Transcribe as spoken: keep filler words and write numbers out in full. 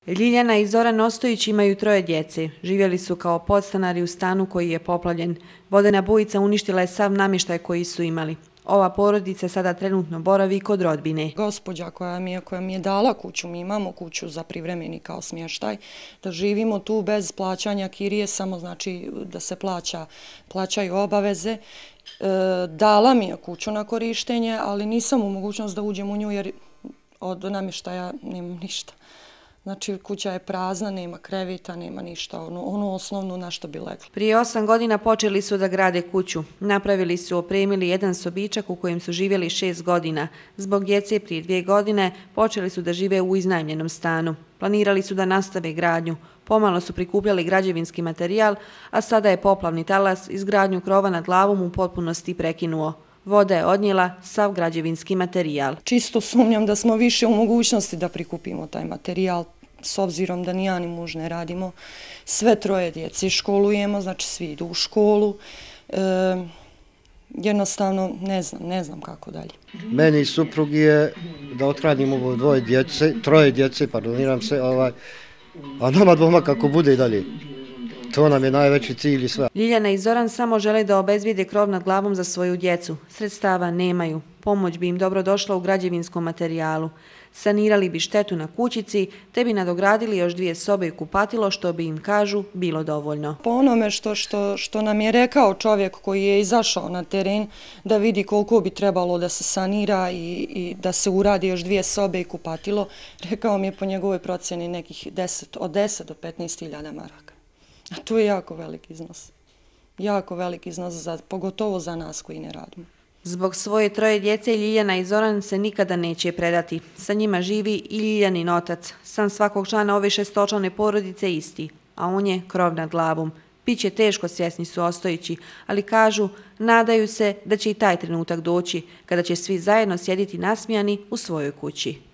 Ljiljana i Zoran Ostojić imaju troje djece. Živjeli su kao podstanari u stanu koji je poplavljen. Vodena bujica uništila je sav namještaj koji su imali. Ova porodica sada trenutno boravi kod rodbine. Gospođa koja mi je, koja mi je dala kuću, mi imamo kuću za privremeni kao smještaj, da živimo tu bez plaćanja kirije, samo znači da se plaća, plaćaju obaveze. E, dala mi je kuću na korištenje, ali nisam u mogućnost da uđem u nju jer od namještaja nemam ništa. Znači, kuća je prazna, nema krevita, nema ništa, ono, ono osnovno na što bi leglo. Prije osam godina počeli su da grade kuću. Napravili su, opremili jedan sobičak u kojem su živjeli šest godina. Zbog djece prije dvije godine počeli su da žive u iznajmljenom stanu. Planirali su da nastave gradnju. Pomalo su prikupljali građevinski materijal, a sada je poplavni talas izgradnju krova nad glavom u potpunosti prekinuo. Voda je odnijela sav građevinski materijal. Čisto sumnjam da smo više u mogućnosti da prikupimo taj materijal, s obzirom da ni ja ni muž ne radimo. Sve troje djece školujemo, znači svi idu u školu. E, jednostavno ne znam, ne znam kako dalje. Meni i suprugi je da othranim ovo dvoje djece, troje djece, pardoniram se, ovaj, a nama dvoma kako bude i dalje. To nam je najveći cilj i sve. Ljiljana i Zoran samo žele da obezbijede krov nad glavom za svoju djecu. Sredstava nemaju. Pomoć bi im dobro došla u građevinskom materijalu. Sanirali bi štetu na kućici, te bi nadogradili još dvije sobe i kupatilo, što bi im, kažu, bilo dovoljno. Po onome što, što, što nam je rekao čovjek koji je izašao na teren da vidi koliko bi trebalo da se sanira i, i da se uradi još dvije sobe i kupatilo, rekao mi je po njegovoj procjeni nekih deset, od deset do petnaest hiljada maraka. A to je jako velik iznos. Jako velik iznos, za, pogotovo za nas koji ne radimo. Zbog svoje troje djece Ljiljana i Zoran se nikada neće predati. Sa njima živi i Ljiljanin otac. San svakog člana ove šestočlane porodice isti, a on je krov nad glavom. Biće teško, svjesni su Ostojići, ali kažu, nadaju se da će i taj trenutak doći, kada će svi zajedno sjediti nasmijani u svojoj kući.